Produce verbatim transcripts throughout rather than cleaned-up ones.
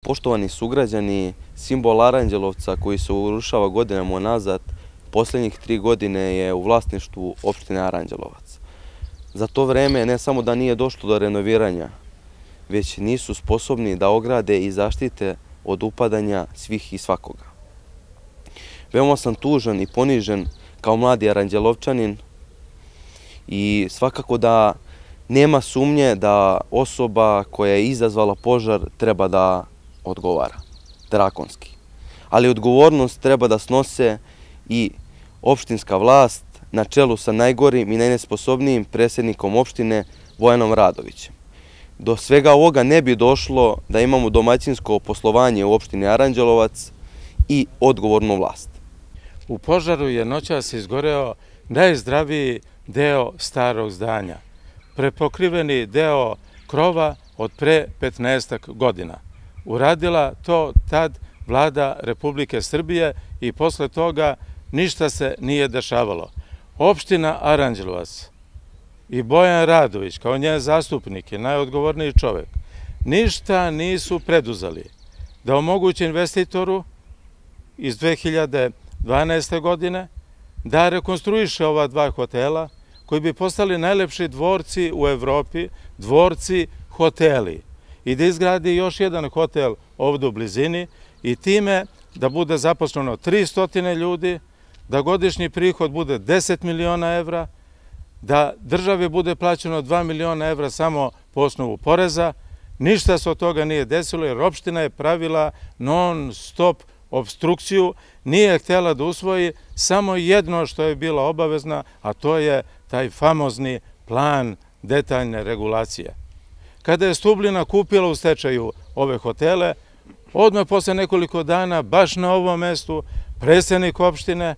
Poštovani sugrađani, simbol Aranđelovca koji se urušava godinama unazad, posljednjih tri godine je u vlasništvu opštine Aranđelovac. Za to vreme ne samo da nije došlo do renoviranja, već nisu sposobni da ograde i zaštite od upadanja svih i svakoga. Veoma sam tužan i ponižen kao mladi Aranđelovčanin i svakako da nema sumnje da osoba koja je izazvala požar treba da odgovara, drakonski. Ali odgovornost treba da snose i opštinska vlast na čelu sa najgorim i najnesposobnijim predsjednikom opštine Bojanom Radovićem. Do svega ovoga ne bi došlo da imamo domaćinsko poslovanje u opštini Aranđelovac i odgovornu vlast. U požaru je noćas izgoreo najzdraviji deo starog zdanja, prepokriveni deo krova od pre petnaestak godina. Uradila to tad vlada Republike Srbije i posle toga ništa se nije dešavalo. Opština Aranđelovac i Bojan Radović, kao njen zastupnik i najodgovorniji čovek, ništa nisu preduzeli da omoguće investitoru iz dve hiljade dvanaeste. godine da rekonstruiše ova dva hotela koji bi postali najlepši dvorci u Evropi, dvorci hoteli, i da izgradi još jedan hotel ovdje u blizini i time da bude zaposleno tristo ljudi, da godišnji prihod bude deset miliona evra, da državi bude plaćeno dva miliona evra samo po osnovu poreza. Ništa se od toga nije desilo jer opština je pravila non stop obstrukciju, nije htjela da usvoji samo jedno što je bila obavezna, a to je taj famozni plan detaljne regulacije. Kada je Stublina kupila u stečaju ove hotele, odmah posle nekoliko dana, baš na ovom mestu, predsjednik opštine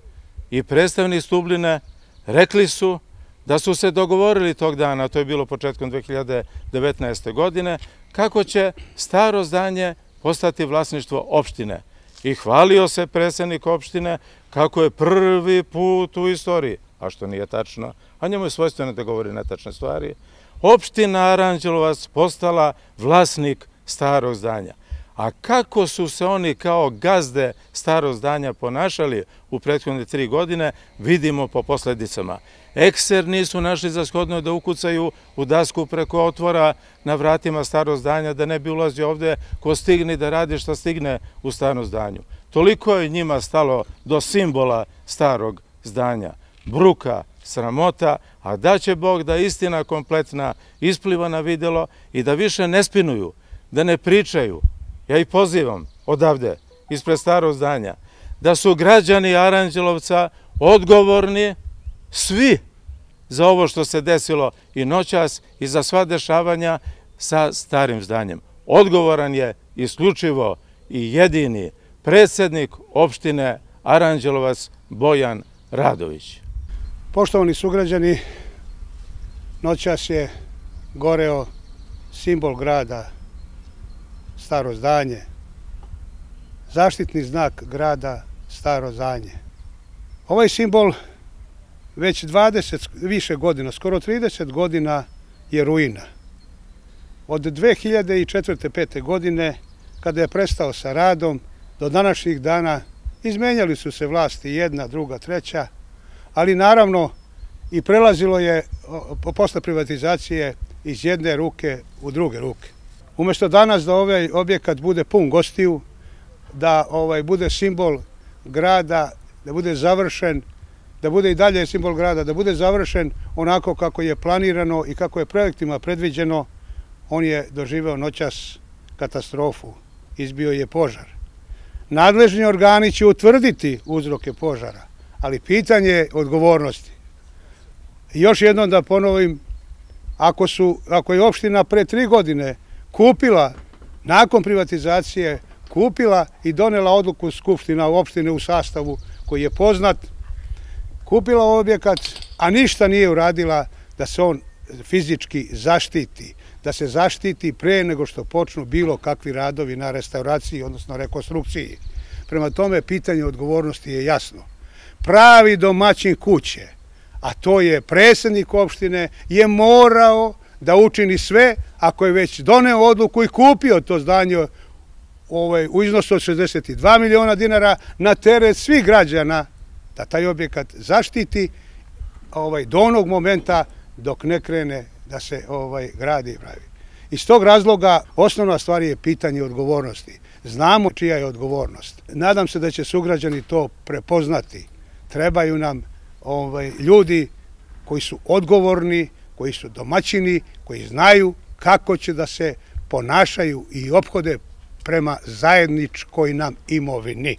i predstavnik Stubline rekli su da su se dogovorili tog dana, to je bilo početkom dve hiljade devetnaeste. godine, kako će staro zdanje postati vlasništvo opštine. I hvalio se predsjednik opštine kako je prvi put u istoriji, a što nije tačno, a njemu je svojstveno da govori netačne stvari, opština Aranđelovac postala vlasnik starog zdanja. A kako su se oni kao gazde starog zdanja ponašali u prethodne tri godine, vidimo po posledicama. Ekser nisu našli za shodno da ukucaju u dasku preko otvora na vratima starog zdanja, da ne bi ulazio ovde ko stigne da radi šta stigne u starom zdanju. Toliko je njima stalo do simbola starog zdanja. Bruka, sramota, a da će Bog da istina kompletna ispliva na videlo i da više ne spinuju, da ne pričaju. Ja ih pozivam odavde, ispred starog zdanja, da su građani Aranđelovca odgovorni svi za ovo što se desilo i noćas i za sva dešavanja sa starim zdanjem. Odgovoran je isključivo i jedini predsjednik opštine Aranđelovac Bojan Radović. Poštovani sugrađani, noćas je goreo simbol grada, staro zdanje, zaštitni znak grada, staro zdanje. Ovaj simbol već dvadeset više godina, skoro trideset godina je ruina. Od dve hiljade četvrte. pete. godine, kada je prestao sa radom, do današnjih dana izmenjali su se vlasti jedna, druga, treća, ali naravno i prelazilo je posle privatizacije iz jedne ruke u druge ruke. Umjesto danas da ovaj objekat bude pun gostiju, da ovaj bude simbol grada, da bude završen, da bude i dalje simbol grada, da bude završen onako kako je planirano i kako je projektima predviđeno, on je doživeo noćas katastrofu. Izbio je požar. Nadležni organi će utvrditi uzroke požara, ali pitanje je odgovornosti. Još jednom da ponovim, ako, su, ako je opština pre tri godine kupila, nakon privatizacije, kupila i donela odluku skupština opštine u sastavu koji je poznat, kupila objekat, a ništa nije uradila da se on fizički zaštiti, da se zaštiti pre nego što počnu bilo kakvi radovi na restauraciji, odnosno rekonstrukciji. Prema tome, pitanje odgovornosti je jasno. Pravi domaćin kuće, a to je predsjednik opštine, je morao da učini sve, ako je već doneo odluku i kupio to zdanje ovaj, u iznosu od šezdeset dva miliona dinara na teret svih građana da taj objekat zaštiti ovaj, do onog momenta dok ne krene da se ovaj, gradi i pravi. Iz tog razloga osnovna stvar je pitanje odgovornosti. Znamo čija je odgovornost. Nadam se da će sugrađani to prepoznati. Trebaju nam ovaj, ljudi koji su odgovorni, koji su domaćini, koji znaju kako će da se ponašaju i ophode prema zajedničkoj nam imovini.